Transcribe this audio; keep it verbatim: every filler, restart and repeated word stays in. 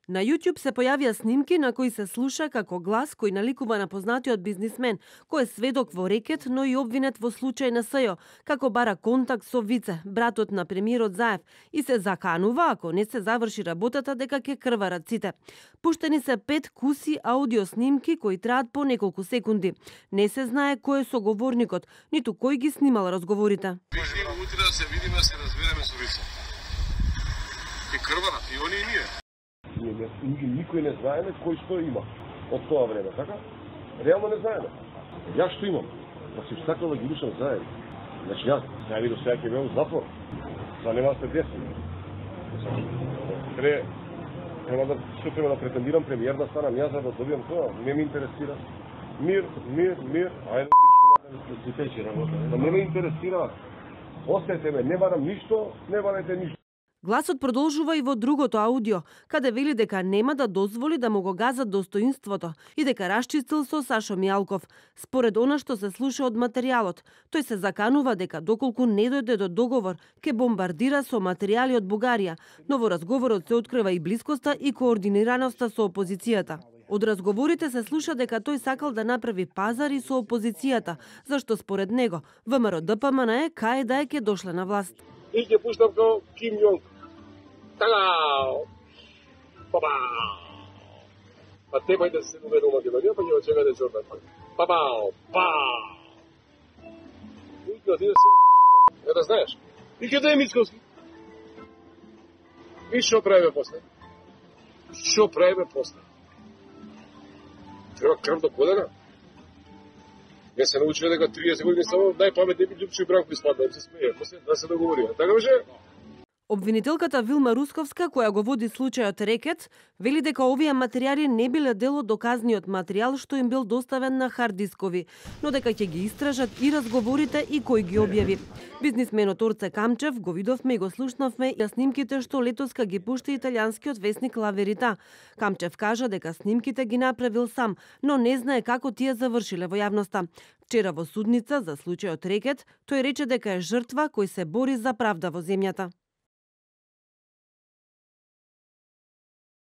На YouTube се појавија снимки на кои се слуша како глас кој наликува на познатиот бизнисмен, кој е сведок во рекет, но и обвинет во случај на СЈО, како бара контакт со Вице, братот на премиерот Заев, и се заканува, ако не се заврши работата, дека ќе крварат сите. Пуштени се пет куси аудио снимки кои траат по неколку секунди. Не се знае кој е соговорникот, ниту кој ги снимал разговорите. Можеме утре да се видиме, да се разбереме со Вице. Ке крварат и они и ние. Никој не знаеме кој што има од тоа време, така? Реално не знаеме. Јас што имам? Па си сакал да ги душам заедно. Значи јас, ја видов сега ќе беам затвор. За нема да се деси. Тре, треба да, што треба да претендирам премиер да станам јас за да добијам тоа. Не ме интересира. Мир, мир, мир. Ајде да си течи работа. Да не ме интересира. Остајте ме, не барам ништо, не барајте ништо. Гласот продолжува и во другото аудио, каде вели дека нема да дозволи да му го газат достоинството и дека расчистил со Сашо Мијалков. Според она што се слуша од материјалот, тој се заканува дека доколку не дојде до договор, ке бомбардира со материјали од Бугарија, но во разговорот се открива и блискоста и координираноста со опозицијата. Од разговорите се слуша дека тој сакал да направи пазари со опозицијата, зашто според него ВМРО Д П М Н е кај да е ке дошле на власт. И ќе пуштам како Ким Јонг. Така, папа. Па тебе да се уведе у Македонија, па ќе очекате Джордан. Папа, па. И ќе отиде се. Е да знаеш. И ќе дојде Мицковски. И што правиме после? Што правиме после? Треба крв до колена. Не се научува дека триесет години само најпаметни би Љупчо и Бранко испадна, се смее, после да се договорија. Така беше? Обвинителката Вилма Русковска, која го води случајот Рекет, вели дека овие материјали не биле дел од доказниот материјал што им бил доставен на хард дискови, но дека ќе ги истражат и разговорите и кој ги објави. Бизнисменот Орце Камчев го видовме и го слушнавме и снимките што летоска ги пушти италијанскиот весник Ла Верита. Камчев кажа дека снимките ги направил сам, но не знае како тие завршиле во јавноста. Вчера во судница за случајот Рекет, тој рече дека е жртва кој се бори за правда во земјата.